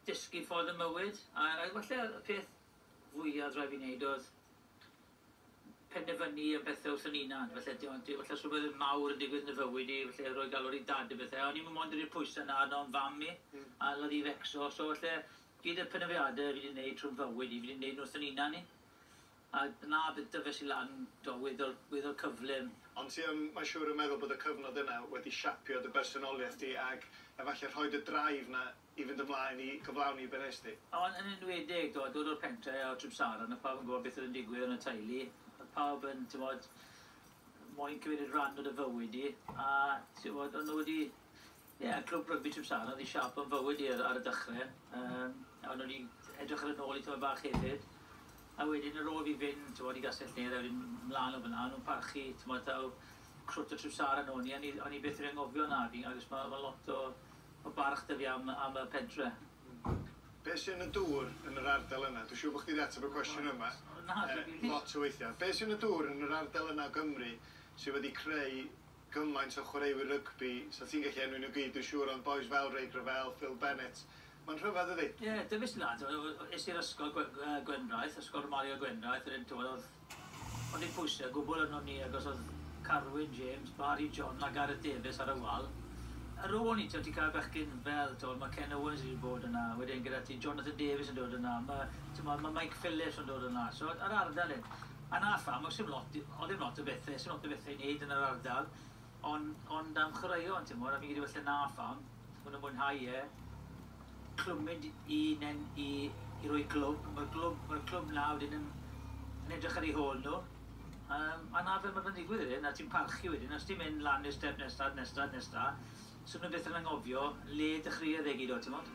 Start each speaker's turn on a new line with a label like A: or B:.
A: Dysgu ffordd y mywyd, a falle y peth fwyaf rhaid fi wneud oedd penderfynu y bethau wrth yn hunan, felly falle rhywbeth mawr yn digwydd yn y fywyd i, felly rhoi galw'r i dad y bethau, o'n i'n mond i'r pwysau na o'n fam i, a ladd i fecso, so felly gyd y penderfyniadau fi wedi gwneud trwy'n fywyd i, fi wedi gwneud nhw wrth yn hunan i. A na beth dyfes i lan, do, weddol, weddol cyflym.
B: Ond ti yn, mae'n siŵr yn meddwl bod y cyfnod yna wedi siapio dy bersonoliaeth di ag efallai rhoi dy drive na i fynd ymlaen i gyflawni be nes di?
A: Ond yn enwedig, do, dod o'r pentre o Trimsaran, a pawb yn gwybod beth oedd yn digwydd yn y teulu. Oedd pawb yn, ti'n bod, moyn cymryd rhan o dy fywyd i, a ti'n bod, o'n nhw wedi, ie, yeah, clwb rygbi Trimsaran oedd i siap o'n fywyd i ar y dechrau. A o'n nhw wedi edrych ar y nôl i tyma bach hefyd. A wedyn ar ôl fi fynd, ti'n bod, i Gastell Nedd, a wedyn mlaen o fyna, o'n nhw'n parchu, ti'n bod, taw crwt o Trimsaran o'n i, o'n i byth yn anghofio na fi, agos mae ma lot o barch 'da fi am y pentre.
B: Be sy'n y dŵr yn yr ardal yna? Dwi'n siŵr bod chdi wedi ateb y cwestiwn yma.
A: Na,
B: lot o weithiau. Be sy'n y dŵr yn yr ardal yna o Gymru sydd wedi creu gymaint o chwaraewyr rygbi, so ti'n gallu enwi nhw gyd, dwi'n siŵr, ond boys fel Ray Gravell, Phil Bennett. Mae'n rhyfedd, ydi?
A: Ie, yeah, dyfes i lan, es i'r ysgol Gwendraeth, ysgol Romario Gwendraeth, yr un oedd, ond i'n pwysau, gwbl yno ni, agos oedd Carwyn James, Barry John a Gareth Davies ar y wal. Ar ôl ni, ti'n cael bechgyn fel, ti'n mae Ken Owens wedi bod yna, wedyn gyda ti Jonathan Davies yn dod yna, mae Mike Phillips yn dod yna, so ar ardal hyn. A na pham, oedd ddim lot o bethau, sy'n lot o bethau i wneud yn yr ardal, ond am chwaraeon, ti'n mwyn, a fi'n gyda felly na pham, maen nhw'n mwynhau e, clwmyd i roi glwb, mae'r clwb na wedyn yn edrych ar ei hôl nhw. A na fel mae'n digwydd wedyn, a ti'n parchu wedyn, os ti'n mynd lan i'r step nesa, nesa, nesa, so nhw byth yn anghofio le dechreuodd e gyd o, ti'n modd?